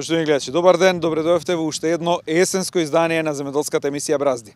Поштовани гледачи, добар ден, добре дојавте во уште едно есенско издание на земјоделската емисија Бразди.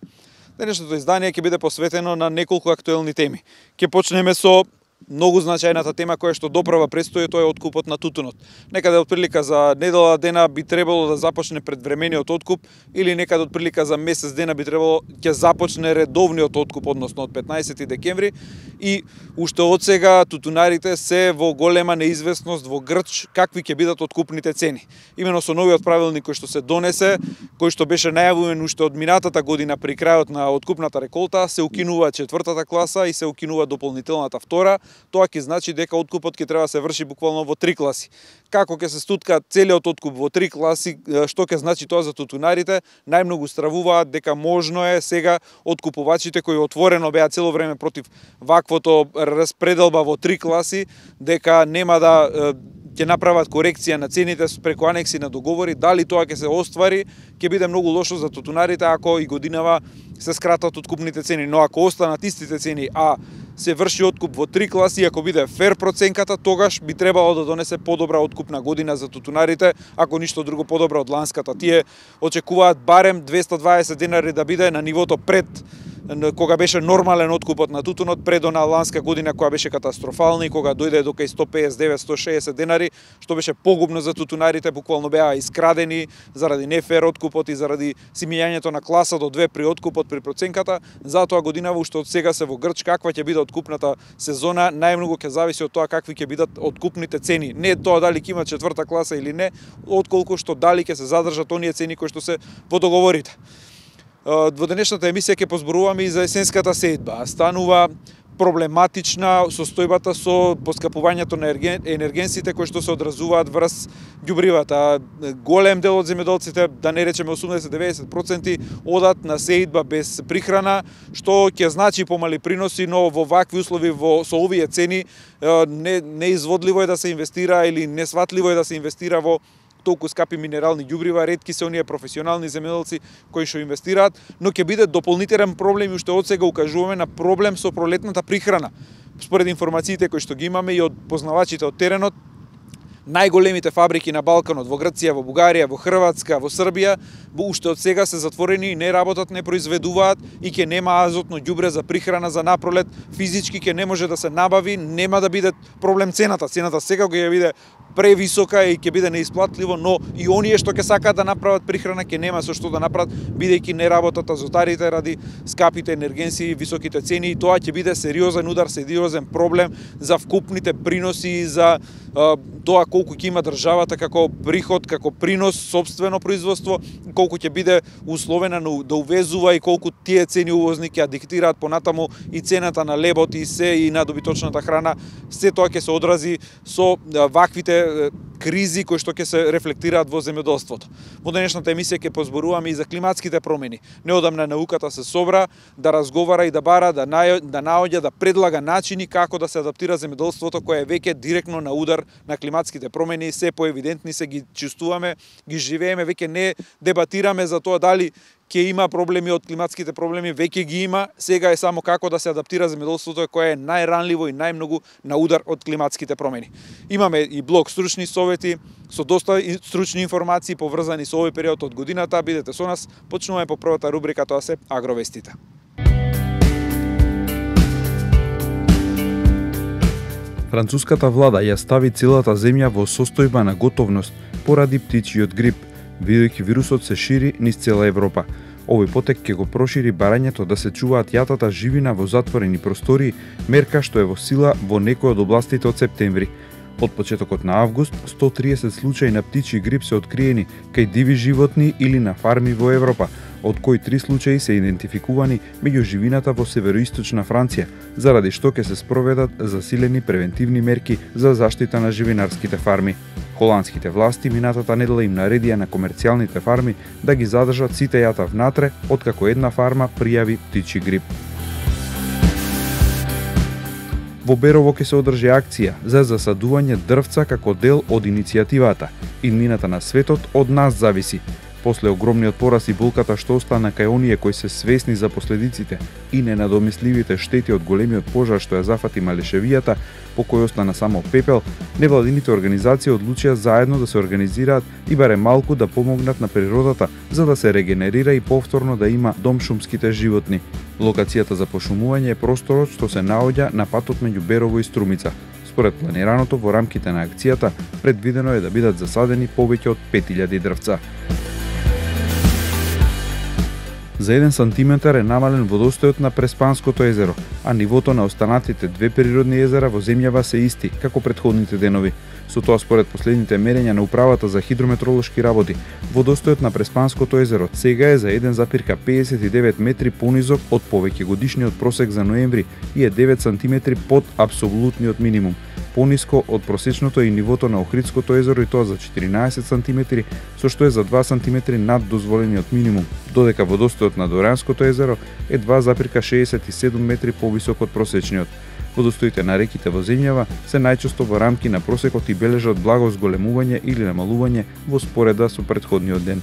Денешното издание ќе биде посветено на неколку актуелни теми. Ќе почнеме со многу значајната тема која што доправа престои, тоа е откупот на тутунот. Некаде отприлика за недела дена би требало да започне предвремениот откуп или некаде отприлика за месец дена би требало ќе започне редовниот откуп, односно од 15 декември, и уште од сега тутунарите се во голема неизвестност, во грч какви ќе бидат откупните цени. Имено со новиот правилник кој што се донесе, кој што беше најавуван уште од минатата година при крајот на откупната реколта, се укинува четвртата класа и се укинува дополнителната втора. Тоа ќе значи дека откупот ќе треба да се врши буквално во 3 класи. Како ќе се стутка целиот откуп во 3 класи, што ќе значи тоа за тутунарите, најмногу стравуваат дека можно е сега откупувачите кои отворено беа цело време против ваквото распределба во 3 класи, дека нема да ќе направат корекција на цените преку анекси на договори. Дали тоа ќе се оствари, ќе биде многу лошо за тутунарите ако и годинава се скратат откупните цени, но ако останат истите цени, а се врши откуп во 3 класи, ако биде фер проценката, тогаш би требало да донесе подобра откупна година за тутунарите, ако ништо друго подобра од ланската. Тие очекуваат барем 220 денари да биде на нивото пред кога беше нормален откупот на тутунот, пред она ланска година која беше катастрофална и кога дојде до кај 159-160 денари, што беше погубно за тутунарите, буквално беа искрадени заради нефер откупот и заради симењањето на класа до 2 при откупот при проценката. Затоа годинава уште од сега се во грч каква ќе биде откупната сезона, најмногу ќе зависи од тоа какви ќе бидат откупните цени. Не тоа дали ќе има четврта класа или не, отколку што дали ќе се задржат оние цени кои што се во договорите. Во денешната емисија ќе позборуваме и за есенската сејдба. Станува проблематична состојбата со поскапувањето на енергенсите кои што се одразуваат врз ѓубривата. Голем дел од земјоделците, да не речеме 80-90%, одат на сејдба без прихрана, што ќе значи помали приноси, но во вакви услови со овие цени неизводливо е да се инвестира или несватливо е да се инвестира во толку скапи минерални ѓубрива. Ретки се оние професионални земјоделци кои што инвестираат, но ќе биде дополнителен проблем и уште од сега укажуваме на проблем со пролетната прихрана. Според информациите кои што ги имаме и од познавачите од теренот, најголемите фабрики на Балканот, во Грција, во Бугарија, во Хрватска, во Србија, уште од сега се затворени и не работат, не произведуваат и ќе нема азотно ѓубре за прихрана за напролет. Физички ќе не може да се набави, нема да биде проблем цената. Цената сега ќе биде превисока и ќе биде неисплатливо, но и оние што ќе сакаат да направат прихрана ќе нема со што да направат, бидејќи не работат азотарите ради скапите енергенси и високите цени, и тоа ќе биде сериозен удар, сериозен проблем за вкупните приноси, за тоа колку ќе има државата како приход, како принос, сопствено производство, колку ќе биде условена да увезува и колку тие цени увозни ќе диктираат понатаму и цената на лебот и се и на добиточната храна. Се тоа ќе се одрази со ваквите кризи кои што ќе се рефлектираат во земјоделството. Во денешната емисија ќе позборуваме и за климатските промени. Неодамна науката се собра да разговара и да бара, да наоѓа, да предлага начини како да се адаптира земјоделството кое е веќе директно на удар на климатските промени. Се поевидентни се ги чувствуваме, ги живееме, веќе не дебатираме за тоа дали ќе има проблеми од климатските проблеми, веќе ги има, сега е само како да се адаптира земјоделството кое е најранливо и најмногу на удар од климатските промени. Имаме и блок стручни совети со доста стручни информации поврзани со овој период од годината. Бидете со нас, почнуваме по првата рубрика, тоа се агровестите. Француската влада ја стави целата земја во состојба на готовност поради птичиот грип, бидејќи вирусот се шири низ цела Европа. Овој потек ќе го прошири барањето да се чуваат јатата живина во затворени простории, мерка што е во сила во некои од областите од септември. Од почетокот на август, 130 случаи на птичи грип се откриени кај диви животни или на фарми во Европа, од кои 3 случаи се идентификувани меѓу живината во североисточна Франција, заради што ќе се спроведат засилени превентивни мерки за заштита на живинарските фарми. Холандските власти минатата недела им наредија на комерцијалните фарми да ги задржат сите јата внатре, откако една фарма пријави птичи грип. Во Берово ќе се одржи акција за засадување дрвца како дел од иницијативата "Иднината на светот од нас зависи", После огромниот пораз и болката што остана кај оние кои се свесни за последиците и ненадомисливите штети од големиот пожар што ја зафати Малешевијата, по кој остана само пепел, невладините организации одлучија заедно да се организираат и барем малку да помогнат на природата, за да се регенерира и повторно да има дом шумските животни. Локацијата за пошумување е просторот што се наоѓа на патот меѓу Берово и Струмица. Според планираното во рамките на акцијата, предвидено е да бидат засадени повеќе од 5000 дрвца. За 1 сантиметар е намален водостојот на Преспанското езеро, а нивото на останатите две природни езера во земјава се исти, како претходните денови. Со тоа, според последните мерења на Управата за хидрометролошки работи, водостојот на Преспанското езеро сега е за 1,59 метри понизок од повеќегодишниот просек за ноември и е 9 сантиметри под апсолутниот минимум. Пониско од просечното и нивото на Охридското езеро, и тоа за 14 сантиметри, со што е за 2 сантиметри над дозволениот минимум, додека водостојот на Доранското езеро е 2,67 метри повисок од просечниот. Водостоите на реките во земјава се најчесто во рамки на просекот и бележат благо зголемување или намалување во спореда со претходниот ден.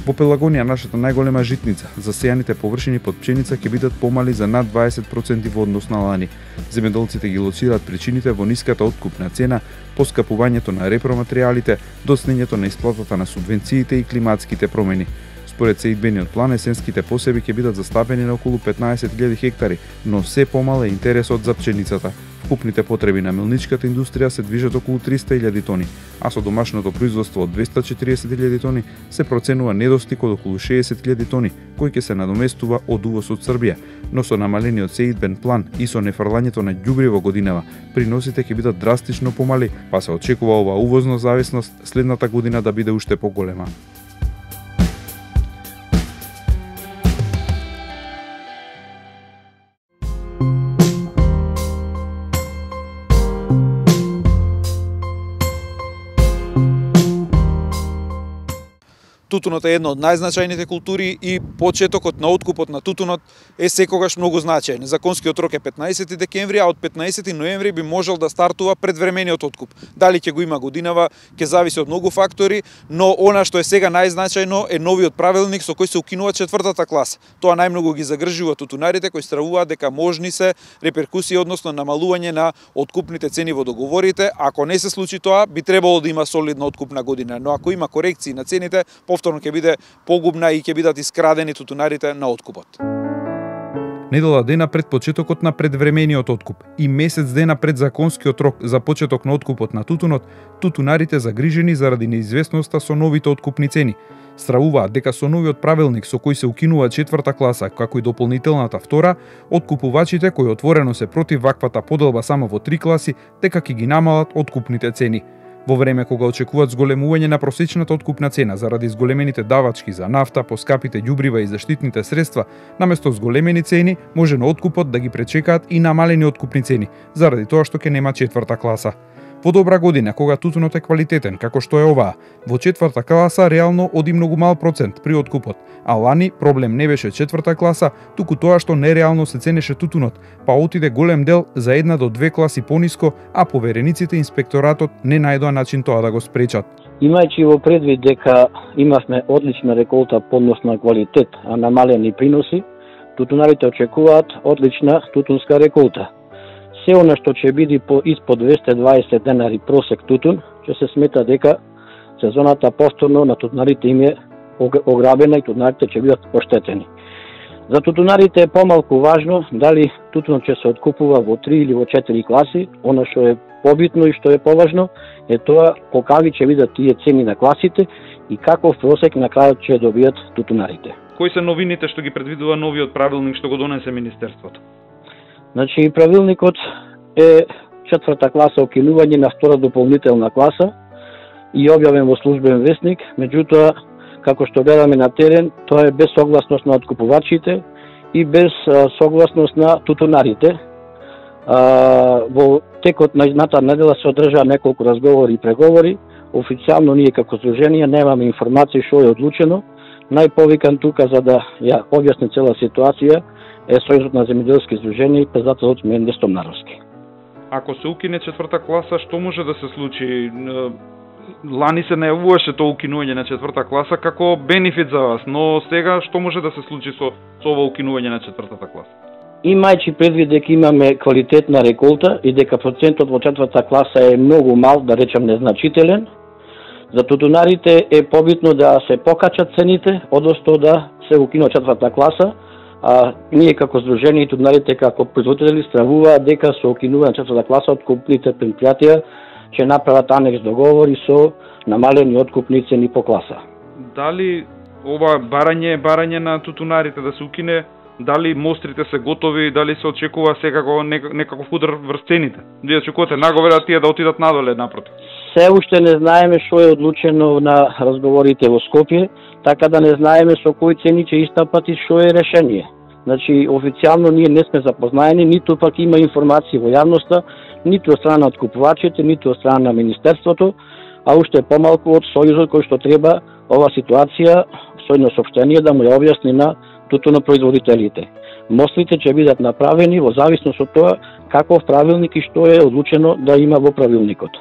Во Пелагонија, нашата најголема житница, засејаните површини под пшеница ќе бидат помали за над 20% во однос на лани. Земјоделците ги лоцираат причините во ниската откупна цена, поскапувањето на репроматеријалите, доснењето на исплатата на субвенциите и климатските промени. Според сеидбениот план, есенските посеби ќе бидат застапени на околу 15.000 хектари, но се помал е интересот за пшеницата. Вкупните потреби на мелничката индустрија се движат околу 300.000 тони, а со домашното производство од 240.000 тони се проценува недостиг од околу 60.000 тони, кој ќе се надоместува од увоз од Србија, но со намалениот сеидбен план и со нефрлањето на ѓубриво годинава, приносите ќе бидат драстично помали, па се очекува оваа увозна зависност следната година да биде уште поголема. Тутунот е една од најзначајните култури и почетокот на откупот на тутунот е секогаш многу значаен. Законскиот рок е 15 декември, а од 15 ноември би можел да стартува предвремениот откуп. Дали ќе го има годинава, ќе зависи од многу фактори, но она што е сега најзначајно е новиот правилник со кој се укинува 4-та класа. Тоа најмногу ги загрижува тутунарите кои стравуваат дека можни се реперкусии, односно намалување на откупните цени во договорите. Ако не се случи тоа, би требало да има солидна откупна година, но ако има корекции на цените, повторно ќе биде погубна и ќе бидат искрадени тутунарите на откупот. Недела дена пред почетокот на предвремениот откуп и месец дена пред законскиот рок за почеток на откупот на тутунот, тутунарите загрижени заради неизвестноста со новите откупни цени. Стравуваат дека со новиот правилник со кој се укинува 4-та класа, како и дополнителната 2, откупувачите кои отворено се против ваквата поделба само во 3 класи, дека ќе ги намалат откупните цени. Во време кога очекуваат зголемување на просечната откупна цена заради зголемените давачки за нафта, поскапите ѓубрива и заштитните средства, наместо зголемени цени, може на откупот да ги пречекаат и намалени откупни цени, заради тоа што ќе нема 4-та класа. Во добра година, кога тутунот е квалитетен, како што е оваа, во 4-та класа реално оди многу мал процент при откупот, а лани проблем не беше 4-та класа, туку тоа што нереално се ценеше тутунот, па отиде голем дел за 1 до 2 класи пониско, а поверениците и инспекторатот не најдоа начин тоа да го спречат. Имајќи во предвид дека имавме одлична реколта по однос на квалитет, а намалени приноси, тутунарите очекуваат одлична тутунска реколта. Се она што ќе биде по испод 220 денари просек тутун, ќе се смета дека сезоната повторно на тутунарите им е ограбена и тутунарите ќе бидат оштетени. За тутунарите е помалку важно дали тутунот ќе се откупува во 3 или во 4 класи. Она што е побитно и што е поважно е тоа какви ќе бидат тие цени на класите и каков просек на крајот ќе добијат тутунарите. Кои се новините што ги предвидува новиот правилник што го донесе Министерството? Значи, правилникот е 4-та класа укинување на 2 дополнителна класа и објавен во службен весник, меѓутоа, како што гледаме на терен, тоа е без согласност на откупувачите и без согласност на тутунарите. Во текот на изната недела се одржаа неколку разговори и преговори. Официјално ние како здружение немаме информации што е одлучено. Најповикан тука за да ја објасни цела ситуација е Сојузот на земјоделски здруженија и председателот Менде Стомнаровски. Ако се укине 4-та класа, што може да се случи? лани се најавуваше тоа укинување на 4-та класа како бенефит за вас, но сега што може да се случи со ова укинување на 4-та класа? Имајќи предвид дека имаме квалитетна реколта и дека процентот во 4-та класа е многу мал, да речем незначителен, за тутунарите е побитно да се покачат цените, одnosno да се укинува 4-та класа, а ние како здружение и тутунарите како производители стравуваат дека со укинување на 4-та класа откупните предпријатија ќе направат анекс договори со намалени откупни цени по класа. Дали ова барање на тутунарите да се укине, дали мострите се готови, дали се очекува секако некаков удар врз цените? Вие очекувате наговора тие да отидат надоле напротив? Се уште не знаеме што е одлучено на разговорите во Скопје, така да не знаеме со кои цени ќе истапат и што е решение. Значи, официјално ние не сме запознаени, ниту пак има информации во јавноста, ниту од страна на откупувачите, ниту од страна на Министерството, а уште помалку од Сојузот кој што треба ова ситуација со едно сопштение да му ја објасни на тутунопроизводителите. Мострите ќе бидат направени во зависност од тоа каков правилник и што е одлучено да има во правилникот.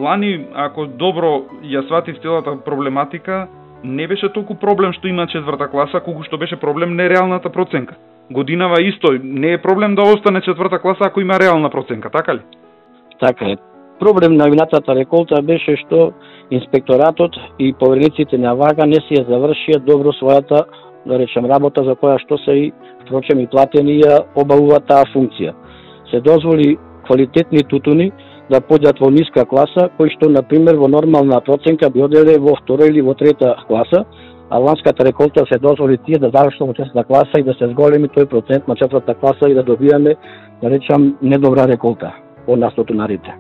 Лани, ако добро ја сватив целата проблематика, не беше толку проблем што има 4-та класа, колку што беше проблем нереалната проценка. Годинава исто, не е проблем да остане 4-та класа ако има реална проценка, така ли? Така е. Проблем на винатата реколта беше што инспекторатот и поверениците на ВАГА не си ја завршија добро својата, да речем, работа за која што се и впрочем и платени ја обавува таа функција. Се дозволи квалитетни тутуни да појдат во ниска класа, кои што, например, во нормална проценка би оделе во 2 или во 3 класа, а ланската реколта се дозволи тие да завршат во 4-та класа и да се зголеми тој процент на 4-та класа и да добијаме, да речам, недобра реколта од нас тутунарите.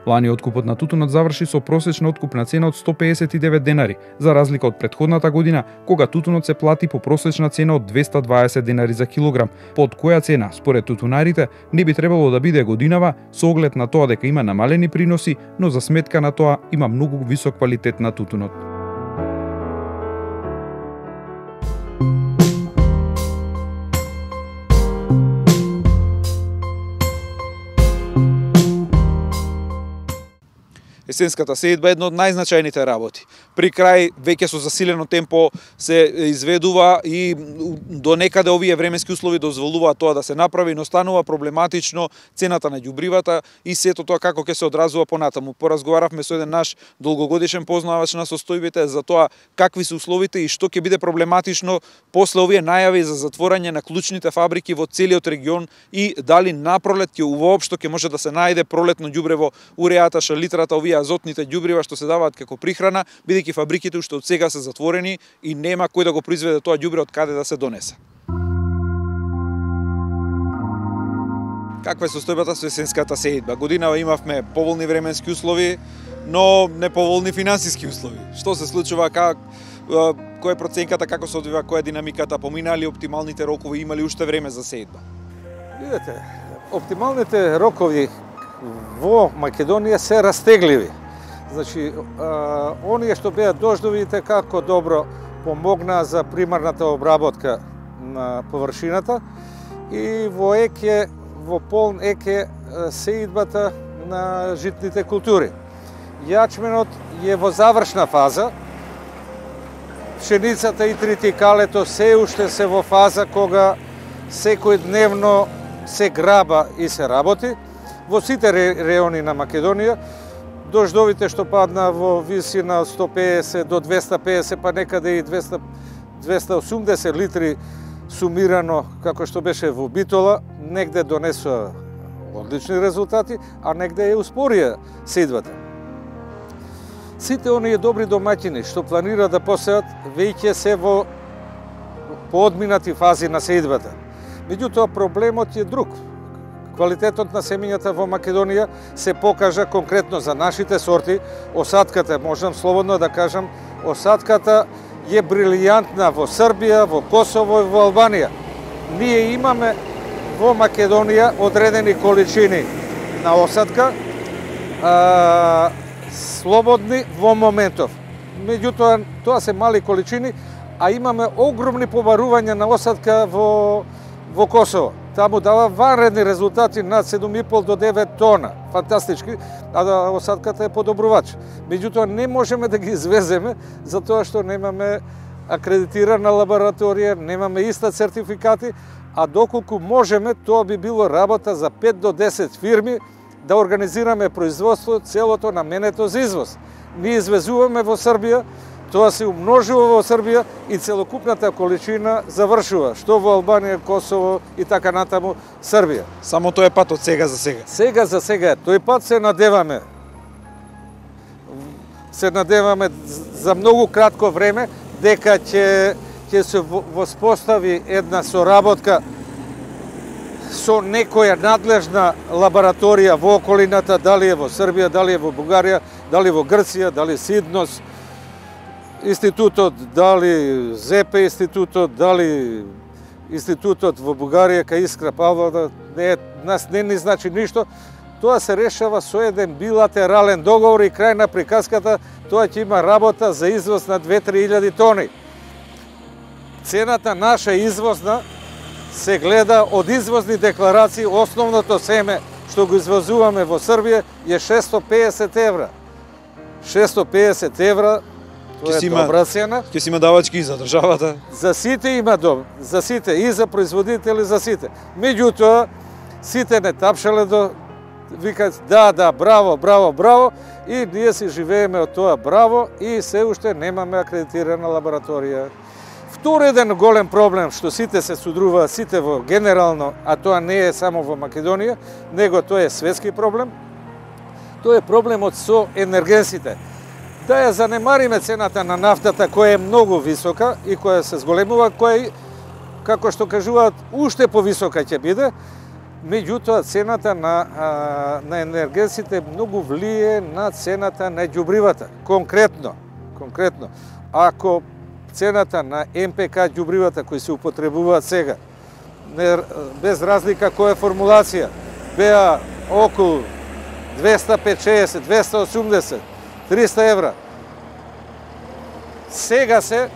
Лани откупот на тутунот заврши со просечна откупна цена од 159 денари, за разлика од претходната година, кога тутунот се плати по просечна цена од 220 денари за килограм, под која цена, според тутунарите, не би требало да биде годинава, со оглед на тоа дека има намалени приноси, но за сметка на тоа има многу висок квалитет на тутунот. Есенската сеидба е една од најзначајните работи. При крај веќе со засилено темпо се изведува и до некаде овие временски услови дозволуваат тоа да се направи, но станува проблематично цената на ѓубривата и сето тоа како ќе се одразува понатаму. Поразговаравме со еден наш долгогодишен познавач на состојбите за тоа какви се условите и што ќе биде проблематично после овие најави за затворање на клучните фабрики во целиот регион и дали напролет ќе воопшто ќе може да се најде пролетно ѓубрево, уреата, шалитрата, овие азотните ѓубрива што се даваат како прихрана, бидејќи фабриките уште од сега се затворени и нема кој да го произведе тоа ѓубре од каде да се донесе. Каква е состојбата со есенската сеидба? Годинава имавме поволни временски услови, но неповолни финансиски услови. Што се случува, која е проценката, како се одвива, која е динамиката, поминали оптималните рокови, имали уште време за сеидба? Видете, оптималните рокови во Македонија се растегливи. Значи, оние што беа дождовите како добро помогнаа за примарната обработка на површината и во еке, во полн еке сеидбата на житните култури. Јачменот е во завршна фаза, пшеницата и тритикалето се уште се во фаза кога секој дневно се граба и се работи. Во сите реони на Македонија, дождовите што падна во висина од 150 до 250, па некаде и 280 литри сумирано, како што беше во Битола, негде донесоа одлични резултати, а негде е успорија сеидбата. Сите оние добри домаќини што планира да посеат, веќе се во поодминати фази на сеидбата. Меѓутоа, проблемот е друг. Квалитетот на семењата во Македонија се покажа конкретно за нашите сорти. Осадката, можам слободно да кажам, осадката е брилијантна во Србија, во Косово и во Албанија. Ние имаме во Македонија одредени количини на осадка, слободни во моментов. Меѓутоа, тоа се мали количини, а имаме огромни побарувања на осадка во Косово. Таму дава ванредни резултати над 7,5 до 9 тона. Фантастички. а да осадката е подобрувач. Меѓутоа не можеме да ги извеземе затоа што немаме акредитирана лабораторија, немаме иста сертификати, а доколку можеме, тоа би било работа за 5 до 10 фирми да организираме производство целото наменето за извоз. Ние извезуваме во Србија, тоа се умножува во Србија и целокупната количина завршува, што во Албанија, Косово и така натаму Србија. Само тој е пат од сега за сега. Сега за сега, тој пат се надеваме. Се надеваме за многу кратко време дека ќе се воспостави една соработка со некоја надлежна лабораторија во околината, дали е во Србија, дали е во Бугарија, дали во Грција, дали Сиднос институтот, дали ЗП институтот, дали институтот во Бугарија кај Искра Павлова, нас не ни значи ништо. Тоа се решава со еден билатерален договор и крај на приказката, тоа ќе има работа за извоз на 2-3 тони. Цената наша извозна се гледа од извозни декларации, основното семе што го извозуваме во Србија е 650 евра. 650 евра, тоа е добра цена. Ќе си има давачки и за државата. За сите има за сите, и за производители, за сите. Меѓутоа, сите не тапшале до викаат да, браво, браво, браво, и ние си живееме од тоа браво и се уште немаме акредитирана лабораторија. Втори еден голем проблем што сите се судруваат, сите во генерално, а тоа не е само во Македонија, него тоа е светски проблем. Тоа е проблемот со енергенсите. Да ја занемариме цената на нафтата која е многу висока и која се зголемува, која, како што кажуваат, уште повисока ќе биде. Меѓутоа, цената на енергенсите многу влие на цената на ѓубривата. Конкретно, ако цената на МПК ѓубривата кои се употребуваат сега, без разлика која формулација, беа околу 250, 280, 300 евра. Сега се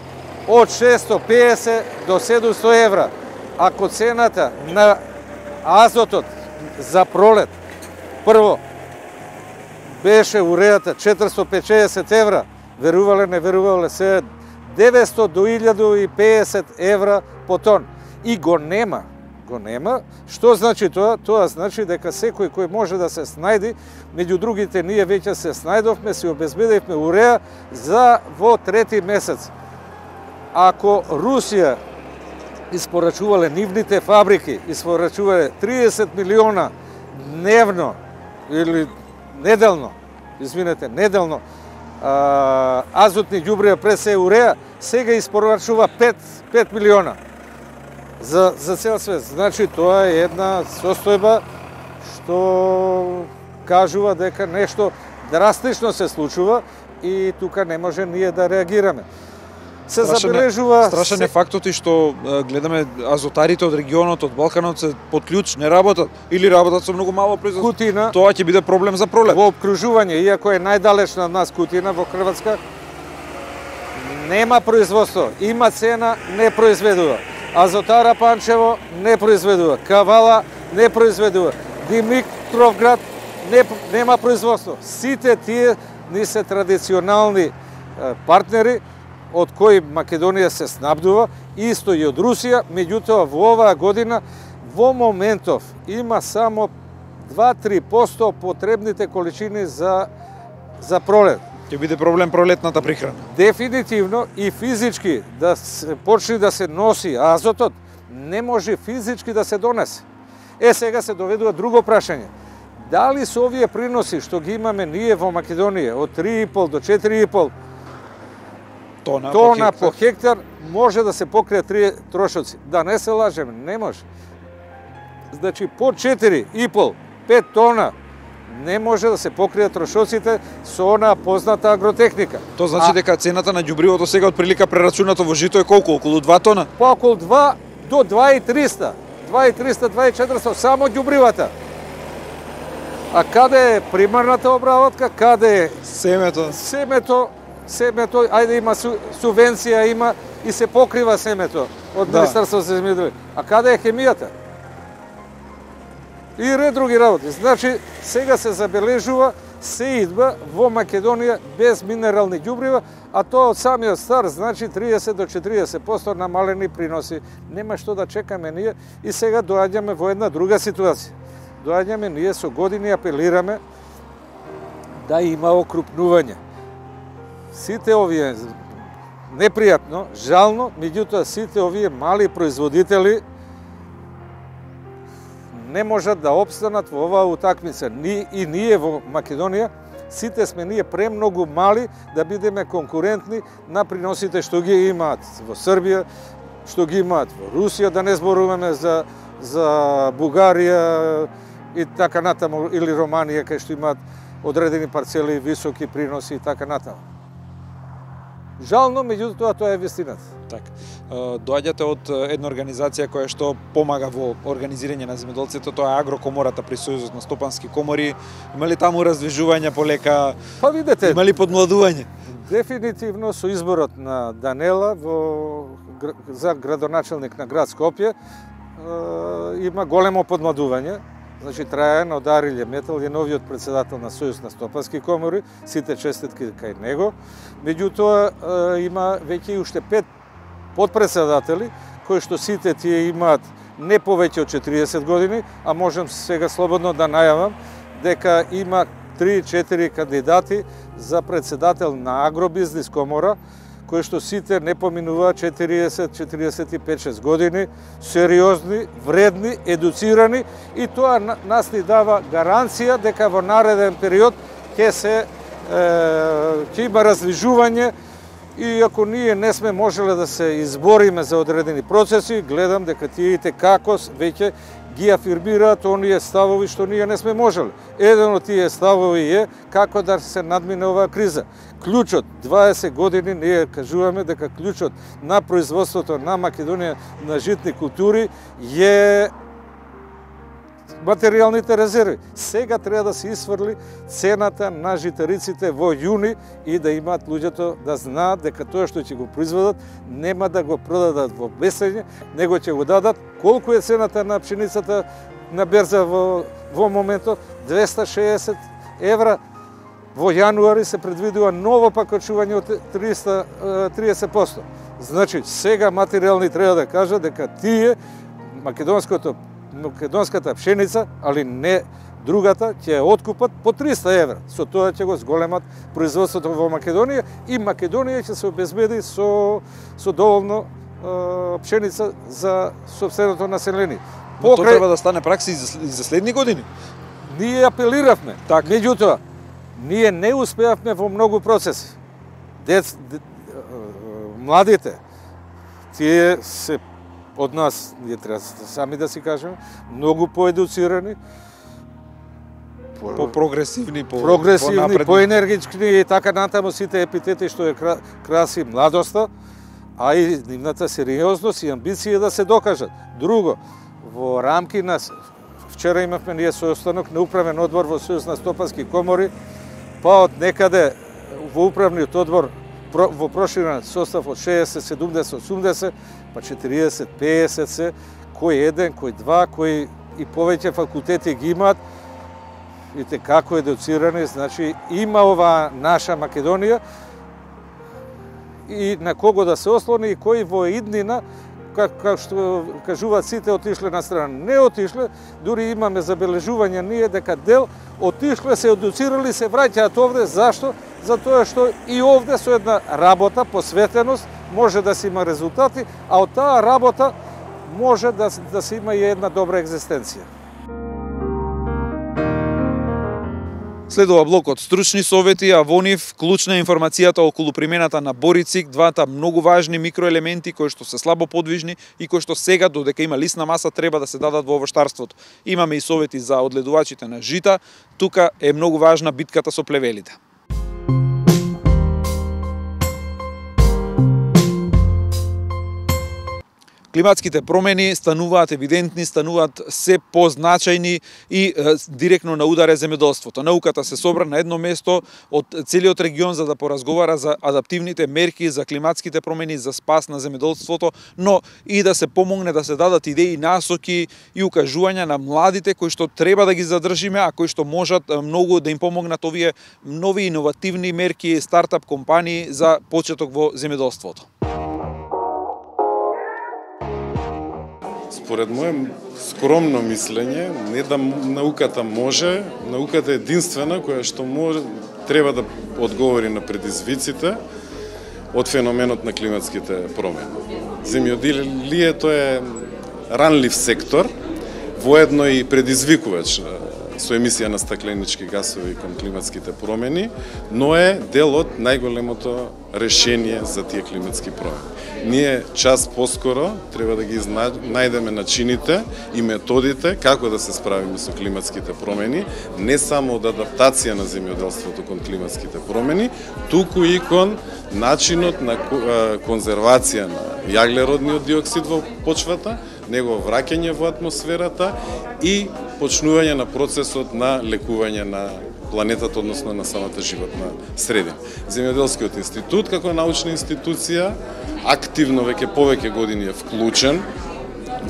од 650 до 700 евра. Ако цената на азотот за пролет, прво, беше урејата 450 евра, верувале, не верувале, се 900 до 1050 евра по тон. И го нема. Што значи тоа? Тоа значи дека секој кој може да се снајди, меѓу другите ние веќе се снајдовме, се обезбедивме уреја за во 3 месец. Ако Русија испорачувале нивните фабрики, испорачувале 30 милиона дневно или неделно, неделно, азотни ѓубрива пред се уреја, сега испорачува 5 милиона за цел свет. Значи тоа е една состојба што кажува дека нешто драстично се случува и тука не може ние да реагираме. Се забележува... Страшен е фактот и што гледаме азотарите од регионот, од Балканот се под клjuč, не работат или работат со многу мало производство. Кутина, тоа ќе биде проблем за пролет. Во обкружување, иако е најдалечна од нас Кутина во Хрватска, нема производство, има цена, не произведува. Азотара Панчево не произведува, Кавала не произведува, Димитровград нема производство. Сите тие ни се традиционални партнери од кои Македонија се снабдува, исто и од Русија, меѓутоа во оваа година во моментов има само 2-3% потребните количини за пролет. Ќе биде проблем пролетната прихрана. Дефинитивно и физички да се почне да се носи азотот, не може физички да се донесе. Сега се доведува друго прашање. Дали со овие приноси што ги имаме ние во Македонија од 3,5 до 4,5 тона по хектар може да се покрие 3 трошоци. Да не се лажеме, не може. Значи по 4,5-5 тона не може да се покријат трошоците со онаа позната агротехника. Тоа значи дека цената на ѓубривото сега од прилика прерачунато во жито е колку? Околу 2 тона? По околу 2 до 2,300. 2,300, 2,400 само ѓубривата. А каде е примарната обработка? Каде е семето? Семето, ајде има субвенција, има и се покрива семето од Министерството за земјоделие. А каде е хемијата? И ред други работи. Значи, сега се забележува се идва во Македонија без минерални ѓубрива, а тоа од самиот старт значи 30 до 40% намалени приноси. Нема што да чекаме ние и сега доаѓаме во една друга ситуација. Доаѓаме ние со години апелираме да има окрупнување. Сите овие непријатно, жално, меѓутоа сите овие мали производители не можат да опстанат во оваа утакмица. И ние во Македонија, сите сме ние премногу мали да бидеме конкурентни на приносите што ги имаат во Србија, што ги имаат во Русија, да не зборуваме за Бугарија и така натаму, или Романија, кај што имаат одредени парцели, високи приноси и така натаму. Жално, меѓутоа тоа е вистината. Така. Доаѓате од една организација која што помага во организирање на земјоделците, тоа е Агрокомората при Сојузот на стопански комори. Има ли таму раздвижување полека? Па видете, има ли подмладување? Дефинитивно со изборот на Данела за градоначелник на град Скопје има големо подмладување. Значи, Трајан Одарилје Метал е новиот председател на Сојуз на стопански комори, сите честитки кај него. Меѓутоа, има веќе и уште 5 подпредседатели, кои што сите тие имаат не повеќе од 40 години, а можам сега слободно да најавам дека има 3-4 кандидати за председател на Агробизнис комора, кои што сите не поминуваат 40-45-6 години, сериозни, вредни, едуцирани, и тоа нас ни дава гаранција дека во нареден период ќе има раздвижување, и ако ние не сме можеле да се избориме за одредени процеси, гледам дека тие како веќе ги афирмираат оние ставови што ние не сме можеле. Еден од тие ставови е како да се надмине оваа криза. Клучот, 20 години ние кажуваме дека клучот на производството на Македонија на житни култури е материјалните резерви. Сега треба да се исфрли цената на житариците во јуни и да имаат луѓето да знаат дека тоа што ќе го произведат нема да го продадат во бесење, него ќе го дадат. Колку е цената на пшеницата на берза во моментот? 260 евра. Во јануари се предвидува ново покачување од 30%. Значи, сега материјални треба да кажат дека тие македонската пшеница, али не другата, ќе ја откупат по 300 евра. Со тоа ќе го зголемат производството во Македонија и Македонија ќе се обезбеди со доволно пшеница за сопственото население. Тоа треба да стане пракса и за следни години. Ние апелиравме, меѓутоа, ние не успеавме во многу процеси. Младите, тие се од нас, ние треба сами да си кажеме, многу поедуцирани, по-прогресивни, по-енергични и така натаму, сите епитети што е краси младоста, а и нивната сериозност и амбиција да се докажат. Друго, во рамки на вчера имавме ние состанок на управен одбор во Сојуз на стопански комори, па од некаде во управниот одбор во проширен состав од 60, 70, 80, па 40, 50 се, кој еден, кој два, кој и повеќе факултети ги имаат, видите како едуцирани, значи има оваа наша Македонија и на кого да се ослони и кој во иднина, како што кажуваат сите, отишле на страна. Не отишле, дури имаме забележување ние дека дел отишле, се едуцирали, се враќаат овде. Зашто? Затоа што и овде со една работа, посветеност, може да се има резултати, а од таа работа може да се има и една добра екзистенција. Следува блокот стручни совети, а во нив клучна информацијата околу примената на борицик, двата многу важни микроелементи кои што се слабо подвижни и кои што сега, додека има лисна маса, треба да се дадат во овоштарството. Имаме и совети за одледувачите на жита, тука е многу важна битката со плевелите. Климатските промени стануваат евидентни, стануваат се позначајни и директно на удар е земјоделството. Науката се собра на едно место од целиот регион за да поразговара за адаптивните мерки, за климатските промени, за спас на земјоделството, но и да се помогне да се дадат идеи, насоки и укажувања на младите кои што треба да ги задржиме, а кои што можат многу да им помогнат овие нови иновативни мерки, стартап компании за почеток во земјоделството. Според моје скромно мислење, не да науката може, науката е единствена која што може, треба да одговори на предизвиците од феноменот на климатските промени. Земјоделието е ранлив сектор, воедно и предизвикувач со емисија на стакленички гасови кон климатските промени, но е дел од најголемото решение за тие климатски промени. Ние час поскоро треба да ги најдеме начините и методите како да се справиме со климатските промени, не само од адаптација на земјоделството кон климатските промени, туку и кон начинот на конзервација на јаглеродниот диоксид во почвата, негово враќање во атмосферата и почнување на процесот на лекување на планетата, односно на самата животна средина. Земјоделскиот институт, како научна институција, активно веќе повеќе години е вклучен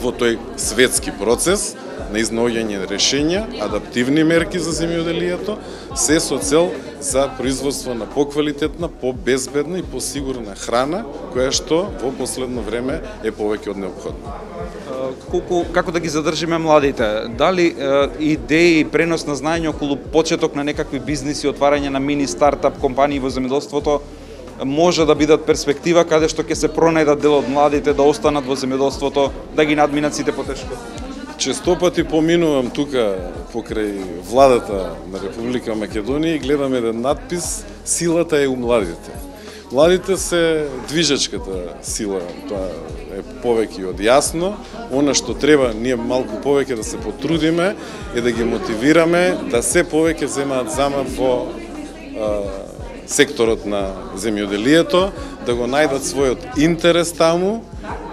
во тој светски процес на изнаоѓање решења, адаптивни мерки за земјоделието, се со цел за производство на поквалитетна, побезбедна и посигурна храна, која што во последно време е повеќе од неопходна. Како да ги задржиме младите? Дали идеи и пренос на знаење околу почеток на некакви бизниси, отварање на мини стартап компании во земјоделството може да бидат перспектива каде што ќе се пронајдат дел од младите да останат во земјоделството, да ги надминат сите потешко? Честопати поминувам тука покрај владата на Република Македонија и гледам еден надпис "Силата е у младите". Младите се движечката сила, тоа е повеќе од јасно. Она што треба ние малку повеќе да се потрудиме е да ги мотивираме да се повеќе земаат замат во секторот на земјоделието, да го најдат својот интерес таму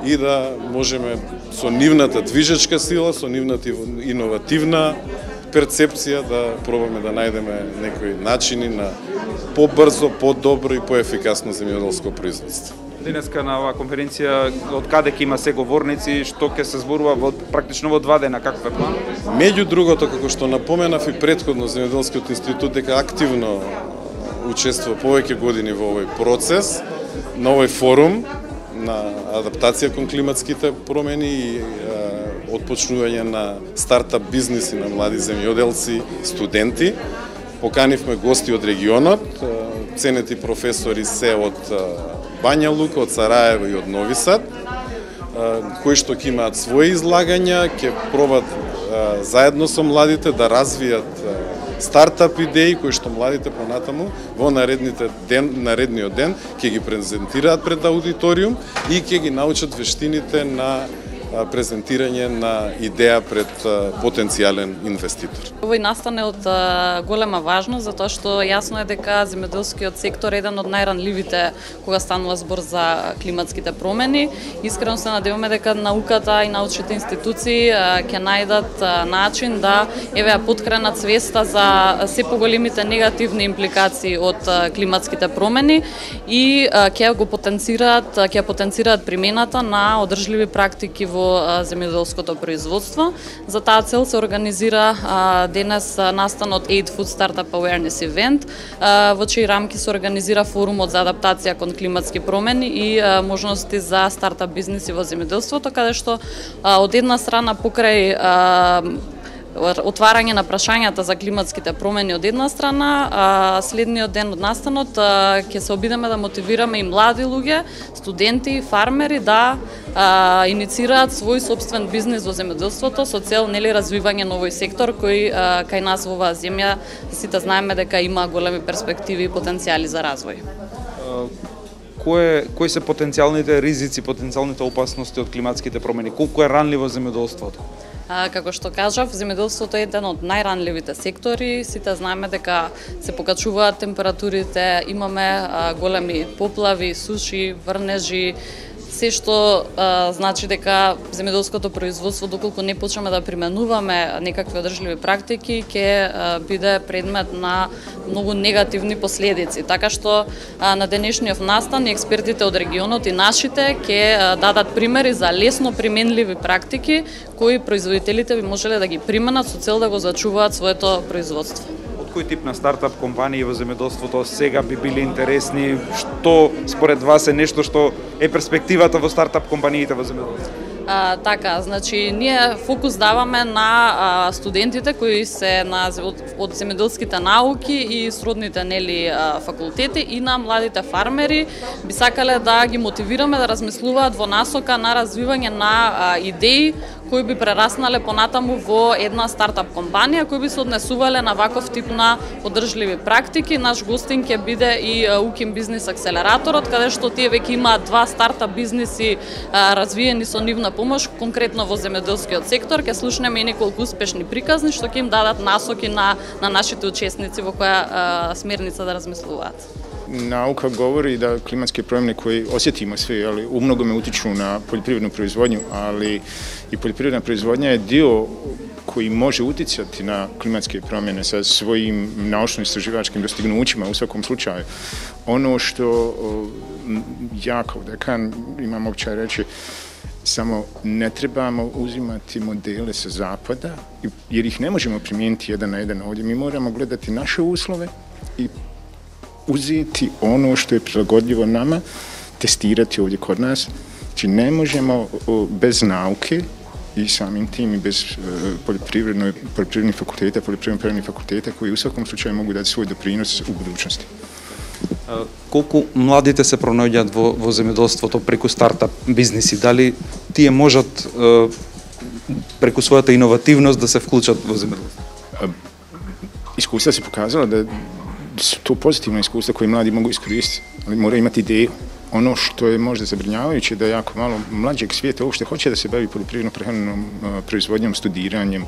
и да можеме со нивната движечка сила, со нивната иновативна перцепција да пробаме да најдеме некои начини на побрзо, подобро и поефикасно земјоделско производство. Денеска на оваа конференција од каде ќе има се говорници, што ќе се зборува практично во 2 дена, каков е план? Меѓу другото, како што напоменав и претходно, Земјоделскиот институт дека активно учествува повеќе години во овој процес, на овој форум на адаптација кон климатските промени и отпочнување на стартап бизниси на млади земјоделци, студенти. Поканивме гости од регионот, ценети професори се од Бања Лука, од Сараево и од Нови Сад, кои што ќе имаат своји излагања, ќе пробат заедно со младите да развијат стартап идеи кои што младите понатаму во наредниот ден ќе ги презентираат пред аудиториум и ќе ги научат вештините на презентирање на идеја пред потенцијален инвеститор. Овој настане од голема важност, затоа што јасно е дека земјоделскиот сектор е еден од најранливите кога станува збор за климатските промени. Искрено се надеваме дека науката и научните институции ќе најдат начин да ја поткренат свеста за се поголемите негативни импликации од климатските промени и ќе потенцираат примената на одржливи практики во земјоделското производство. За таа цел се организира денес настанот Aid Food Startup Awareness Event, во чии рамки се организира форумот за адаптација кон климатски промени и можности за стартап бизниси во земјоделството, каде што од една страна покрај отварање на прашањата за климатските промени од една страна, следниот ден од настанот ќе се обидеме да мотивираме и млади луѓе, студенти, фармери да иницираат свој сопствен бизнис во земјоделството со цел развивање на овој сектор кој кај нас во оваа земја сите знаеме дека има големи перспективи и потенцијали за развој. Кои се потенцијалните ризици, потенцијалните опасности од климатските промени? Колку е ранливо земјоделството? Како што кажав, земјоделството е еден од најранливите сектори. Сите знаеме дека се покачуваат температурите, имаме големи поплави, суши, врнежи, се што значи дека земјоделското производство, доколку не почнеме да применуваме некакви одржливи практики, ќе биде предмет на многу негативни последици. Така што на денешниот настан експертите од регионот и нашите ќе дадат примери за лесно применливи практики кои производителите би можеле да ги применат со цел да го зачуваат своето производство. Кој тип на стартап компании во земјоделството сега би били интересни? Што според вас е нешто што е перспективата во стартап компаниите во земјоделството? Така, значи ние фокус даваме на студентите кои се од земјоделските науки и сродните факултети и на младите фармери. Би сакале да ги мотивираме да размислуваат во насока на развивање на идеи кои би прераснале понатаму во една стартап компанија, кои би се однесувале на ваков тип на одржливи практики. Наш гостин ќе биде и УКИМ бизнис акселераторот, каде што тие веќе имаат 2 стартап бизниси развиени со нивна помош, конкретно во земјоделскиот сектор. Ќе слушнеме и неколку успешни приказни што ќе им дадат насоки на нашите учесници во која смерница да размислуваат. Nauka govori da klimatske promjene koje osjetimo svi, ali u mnogome utiču na poljoprivrednu proizvodnju, ali i poljoprivredna proizvodnja je dio koji može uticati na klimatske promjene sa svojim naučno-istraživačkim dostignućima u svakom slučaju. Ono što ja kao dekan imam običaj reći, samo ne trebamo uzimati modele sa zapada, jer ih ne možemo primijeniti jedan na jedan ovdje. Mi moramo gledati naše uslove i uzeti ono što je prilagodljivo nama, testirati ovdje kod nas. Znači ne možemo bez nauke i samim tim i bez poljoprivrednih fakulteta, poljoprivrednih fakulteta koji u svakom slučaju mogu dati svoj doprinos u budućnosti. Колку младите се пронаоѓаат во земјоделството преку стартап бизниси? Дали тие можат преку својата иновативност да се вклучат во земјоделството? Iskustva se pokazala da su to pozitivna iskustva koje mladi mogu iskoristiti, ali moraju imati ideju. Ono što je možda zabrinjavajuće da jako malo mlađeg svijeta uopšte hoće da se bavi poljoprivredno-prehrambenom proizvodnjom, studiranjem,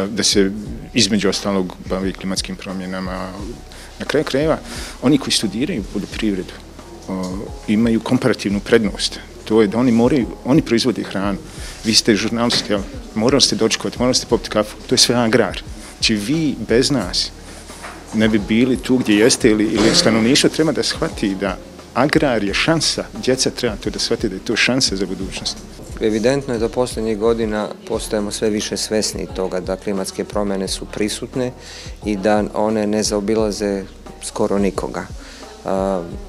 da se između ostalog bavi klimatskim promjenama. Na kraju krajeva, oni koji studiraju poljoprivredu imaju komparativnu prednost. To je da oni proizvode hranu. Vi ste žurnalisti, morali ste dočekati, morali ste popiti kafu, to je sve agrar. Znači vi bez nas ne bi bili tu gdje jeste ili stanovništvo treba da shvati da agrar je šansa, djeca treba to da shvati da je to šansa za budućnost. Evidentno je da posljednjih godina postajemo sve više svesni toga da klimatske promjene su prisutne i da one ne zaobilaze skoro nikoga.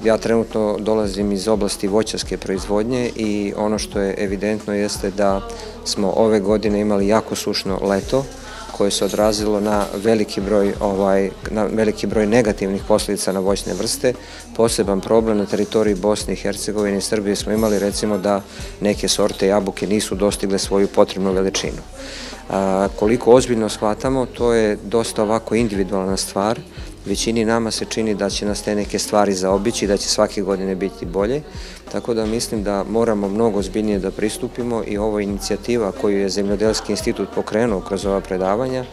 Ja trenutno dolazim iz oblasti voćarske proizvodnje i ono što je evidentno jeste da smo ove godine imali jako sušno leto koje se odrazilo na veliki broj negativnih posljedica na voćne vrste. Poseban problem na teritoriji Bosne i Hercegovine i Srbije smo imali recimo da neke sorte jabuke nisu dostigle svoju potrebnu veličinu. Koliko ozbiljno shvatamo, to je dosta ovako individualna stvar. Većini nama se čini da će nas te neke stvari zaobići, da će svake godine biti bolje, tako da mislim da moramo mnogo ozbiljnije da pristupimo i ova inicijativa koju je Zemljodelski institut pokrenuo kroz ova predavanja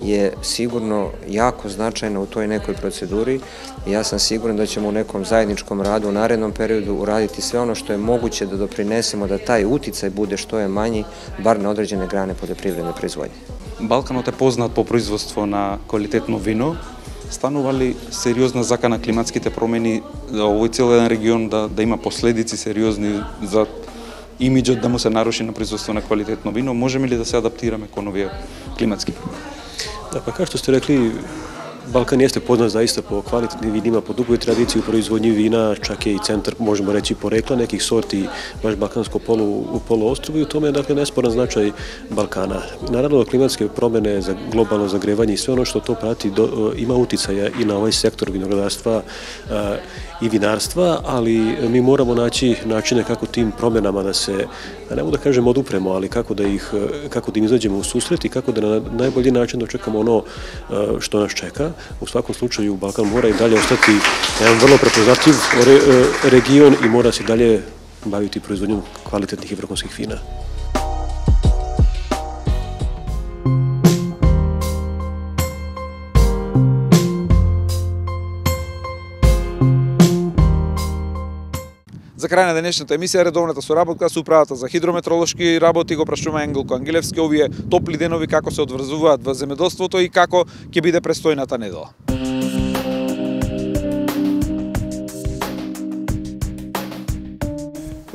je sigurno jako značajna u toj nekoj proceduri i ja sam siguran da ćemo u nekom zajedničkom radu u narednom periodu uraditi sve ono što je moguće da doprinesemo da taj uticaj bude što je manji, bar na određene grane poljoprivredne proizvodnje. Балканот е познат по производство на квалитетно вино. Станува ли сериозна закана климатските промени овој цел еден регион да има последици сериозни за имиџот да му се наруши на производство на квалитетно вино? Можеме ли да се адаптираме кон овие климатски промени? Da, pa kao što ste rekli, Balkan jeste poznat zaista po kvalitetnim vinima, po dugoj tradiciji u proizvodnji vina, čak je i centar, možemo reći, porekla nekih sorti, baš balkansko poluostrvo i u tome je dakle nesporan značaj Balkana. Naravno, klimatske promjene za globalno zagrevanje i sve ono što to prati ima uticaja i na ovaj sektor vinogradarstva i vinarstva, ali mi moramo naći načine kako tim promjenama da se, ne mogu da kažem odupremo, ali kako da im izađemo u susret i kako da na najbolji način dočekamo ono što nas čeka. U svakom slučaju Balkan mora i dalje ostati jedan vrlo prepoznatljiv region i mora se dalje baviti proizvodnjom kvalitetnih i vrhunskih vina. За крај на денешната емисија редовната соработка со управата за хидрометролошки работи го прашуваме Ангелко Ангелевски овие топли денови како се одврзуваат во земјоделството и како ќе биде престојната недела.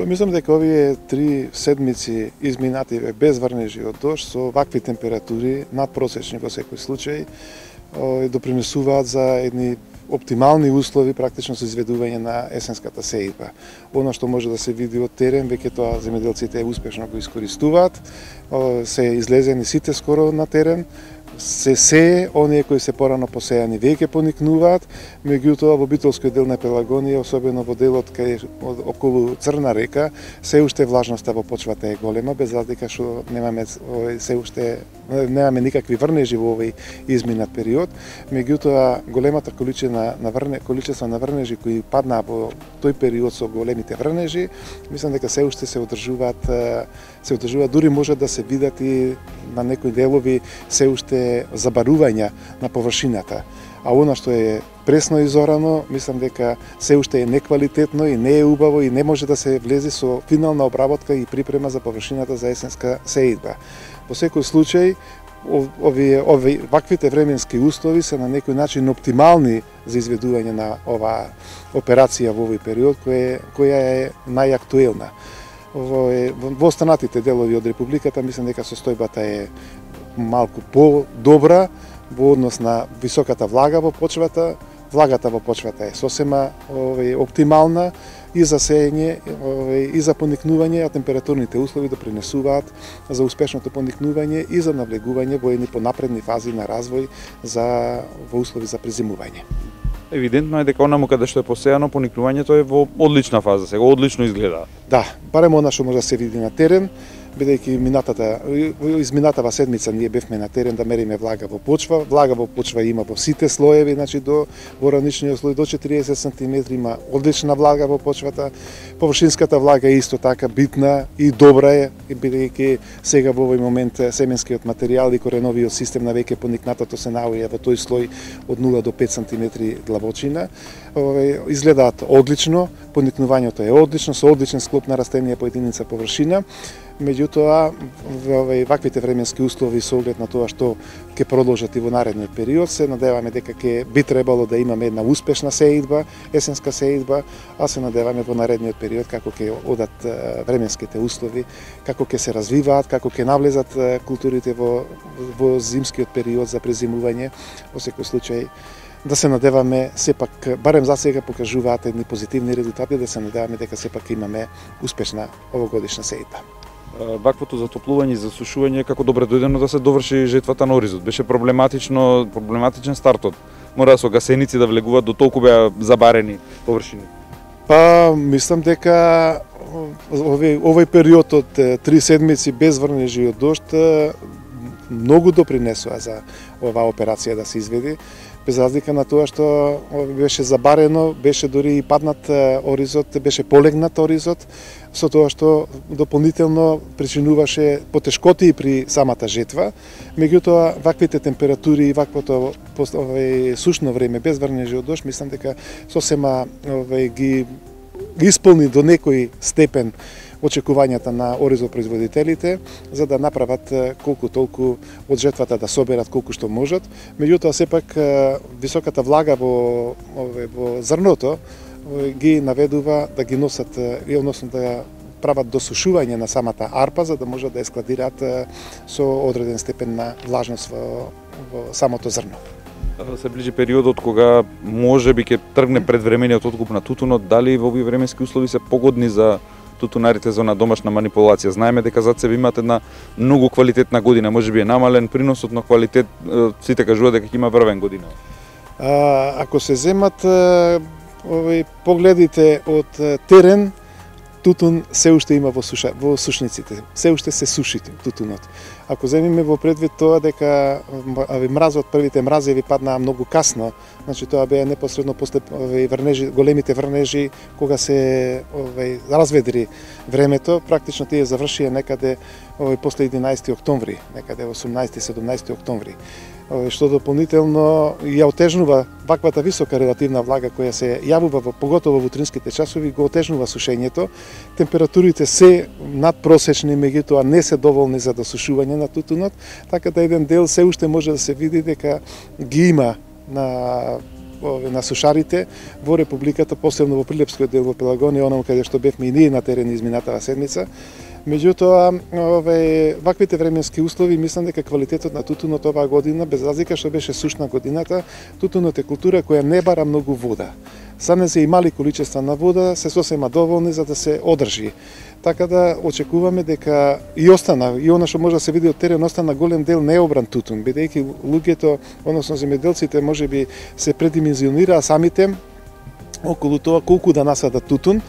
Мислам дека овие 3 седмици изминати без врнежи од дожд со вакви температури надпросечни во секој случај допринесуваат за едни оптимални услови практично за изведување на есенската сејба. Оно што може да се види од терен, веќе тоа земјоделците успешно го искористуваат, се излезени сите скоро на терен, се сее, оние кои се порано посејани веќе поникнуваат, меѓутоа во битолскиот дел на Пелагонија, особено во делот кај околу Црна река, се уште влажноста во почвата е голема, без разлика што немаме никакви врнежи во овој изминат период, меѓутоа големата количество на врнежи кои паднаа во тој период со големите врнежи, мислам дека се уште се одржуваат, дури може да се видат и на некои делови се уште забарувања на површината. А она што е пресно изорано, мислам дека се уште е неквалитетно и не е убаво и не може да се влезе со финална обработка и припрема за површината за есенска сеидба. Во секој случај, ваквите временски услови се на некој начин оптимални за изведување на оваа операција во овој период, која е најактуелна. Во останатите делови од Републиката, мислам дека состојбата е малку по-добра во однос на високата влага во почвата. Влагата во почвата е сосема оптимална и за сеење и за поникнување, а температурните услови допринесуваат за успешното поникнување и за навлегување во едни понапредни фази на развој во услови за презимување. Евидентно е дека онаму каде што е посејано, поникнувањето е во одлична фаза, сега одлично изгледа. Да, барем она што може да се види на терен, бидејќи изминатава седмица ние бевме на терен да мериме влага во почва. Влага во почва има во сите слоеви, значи до раничниот слој до 40 см има одлична влага во почвата. Површинската влага е исто така битна и добра е, бидејќи сега во овој момент семенскиот материјал и кореновиот систем на веќе поникнатото се наоѓа во тој слој од 0 до 5 см длабочина. Изгледаат одлично, поникнувањето е одлично, со одличен склоп на растенија по единица површина. Меѓутоа, ваквите временски услови со оглед на тоа што ќе продолжат и во наредниот период, се надеваме дека би требало да имаме една успешна сеидба, есенска сеидба, а се надеваме во наредниот период како ќе одат временските услови, како ќе се развиваат, како ќе навлезат културите во зимскиот период за презимување. Во секој случај, да се надеваме сепак, барем за сега покажуваат едни позитивни резултати, да се надеваме дека сепак имаме успешна овогодишна сеидба. Ваквото затоплување и засушување како добре дојдено да се доврши жетвата на оризот. Беше проблематичен стартот. Мора со гасеници да влегуваат, до толку беа забарени површини. Мислам дека овој период од 3 седмици без врнежи од дожд многу допринесува за оваа операција да се изведи. Без разлика на тоа што беше забарено, беше дури и паднат оризот, беше полегнат оризот, со тоа што дополнително причинуваше потешкоти при самата жетва. Меѓутоа, ваквите температури и ваквото сушно време без врнежи од дожд, мислам дека сосема ги исполни до некој степен очекувањата на оризопроизводителите, за да направат колку толку од жетвата да соберат колку што можат. Меѓутоа, сепак, високата влага во зрното ги наведува да ги носат, односно да прават досушување на самата арпа, за да можат да ја складираат со одреден степен на влажност во самото зрно. Се ближи периодот кога можеби ќе тргне предвремениот откуп на тутунот, дали во овие временски услови се погодни за тутунарите за на домашна манипулација? Знаеме дека зад себе имате една многу квалитетна година, можеби е намален приносот на квалитет, сите кажуваат дека ќе има врвен година. Ако се земат погледите од терен, тутун се уште има во сушниците, се уште се суши тутунот. Ако земиме во предвид тоа дека мразот, првите мразеви паднаа многу касно, значи тоа беа непосредно после големите врнежи, кога се разведри времето, практично тие завршија некаде после 11 октомври, некаде 18-17 октомври. што дополнително ја отежнува ваквата висока релативна влага која се јавува поготово во утринските часови, го отежнува сушењето. Температурите се надпросечни, меѓутоа не се доволни за досушување на тутунот, така да еден дел се уште може да се види дека ги има на сушарите во Републиката, посебно во Прилепскиот дел во Пелагонија, онаму каде што бевме и ние на терен изминатава седмица. Меѓутоа, ваквите временски услови, мислам дека квалитетот на тутунот оваа година, без разлика што беше сушна годината, тутунот е култура која не бара многу вода. Саме се и мали количества на вода се сосема доволни за да се одржи. Така да очекуваме дека и остана, и она што може да се види од терен, остана голем дел необран тутун, бидејќи луѓето, односно земјоделците, можеби се предимензионираа самите околу тоа колку да насадат тутун,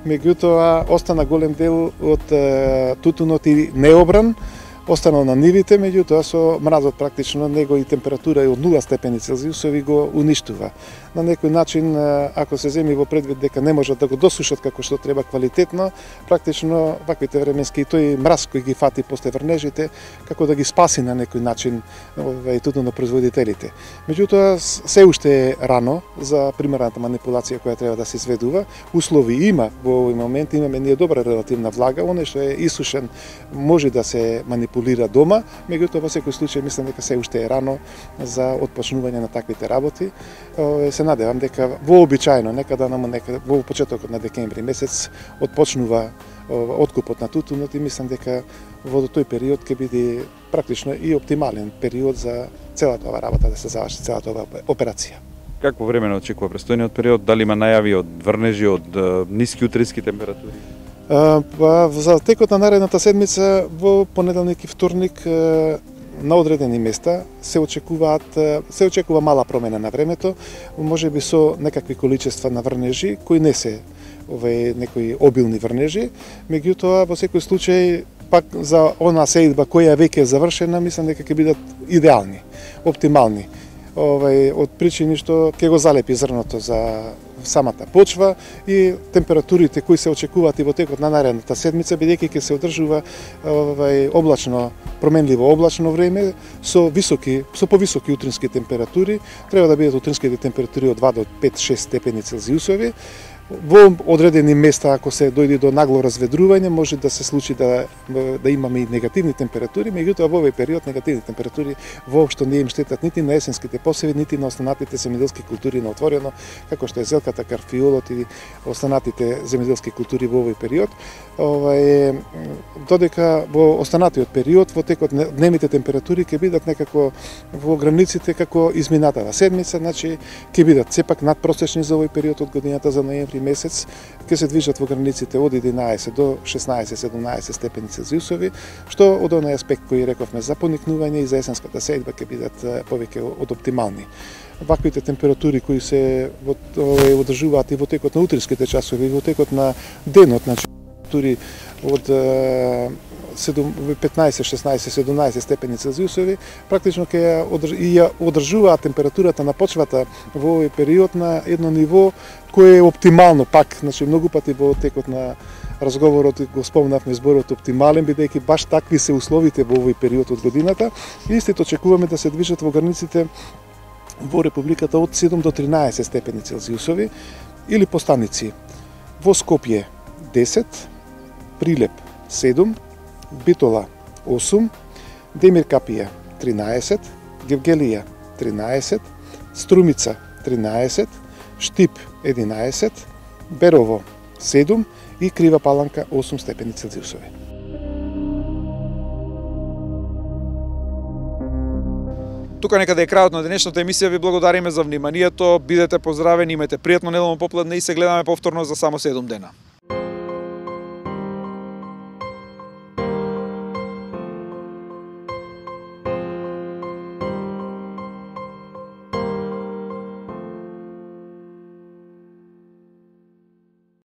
меѓутоа остана голем дел од тутунот и необран, останал на нивите, меѓутоа со мразот практично него и температура од 0 степени Целзиусови го уништува. На некој начин, ако се земи во предвид дека не можат да го досушат како што треба квалитетно, практично ваквите временски и тој мраз кој ги фати после врнежите, како да ги спаси на некој начин тутунопроизводителите. Меѓутоа, се уште е рано за примерната манипулација која треба да се изведува. Услови има во овој момент, имаме ние добра релативна влага, оној што е исушен може да се манипулира дома, меѓутоа во секој случај мислам дека се уште е рано за отпочнување на таквите работи. Се надевам дека вообичаено некада во почетокот на декември месец отпочнува откупот на тутунот и мислам дека во тој период ќе биде практично и оптимален период за целата оваа работа да се заврши целата оваа операција. Какво време очекува престојниот период? Дали има најави од врнежи, од ниски утрински температури? За текот на наредната седмица во понеделник и вторник на одредени места се очекува мала промена на времето, можеби со некакви количества на врнежи кои не се некои обилни врнежи, меѓутоа во секој случај пак за она сеидба која веќе е завршена, мислам дека ќе бидат идеални, оптимални. Од причини што ќе го залепи зрното за самата почва и температурите кои се очекуваат и во текот на наредната седмица, бидејќи ќе се одржува облачно, променливо облачно време со повисоки утрински температури, треба да бидат утринските температури од 2 до 5-6 степени Целзиусови. Во одредени места, ако се дојде до нагло разведрување, може да се случи да имаме и негативни температури, меѓутоа во овој период негативни температури воопшто не им штетат нити на есенските посеви, нити на останатите земјоделски култури на отворено, како што е зелката, карфиолот и останатите земјоделски култури во овој период. Додека во останатиот период, во текот дневните температури ќе бидат некако во границите како изминатава седмица, значи ќе бидат сепак надпросечни за овој период од годината за ноември месец, ќе се движат во границите од 11 до 16-17 степени Целзиусови, што од оној аспект кој рековме за поникнување и за есенската сеидба ќе бидат повеќе од оптимални. Ваквите температури кои се одржуваат и во текот на утринските часови, и во текот на денот, значи температури од 15, 16, 17 степени Целзиусови, практично ќе ја одржуваат температурата на почвата во овој период на едно ниво кое е оптимално пак, значи многу пати во текот на разговорот го спомнавме зборот оптимален, бидејќи баш такви се условите во овој период од годината. Истите очекуваме да се движат во границите во Републиката од 7 до 13 степени Целзиусови или по станици. Во Скопје 10, Прилеп 7, Битола 8, Демир Капија 13, Гевгелија 13, Струмица 13, Штип 11, Берово 7 и Крива Паланка 8 степени Целзиусови. Тука некаде е крајот на денешната емисија. Ви благодариме за вниманието. Бидете поздравени, имате пријатно неделно попладне и се гледаме повторно за само 7 дена.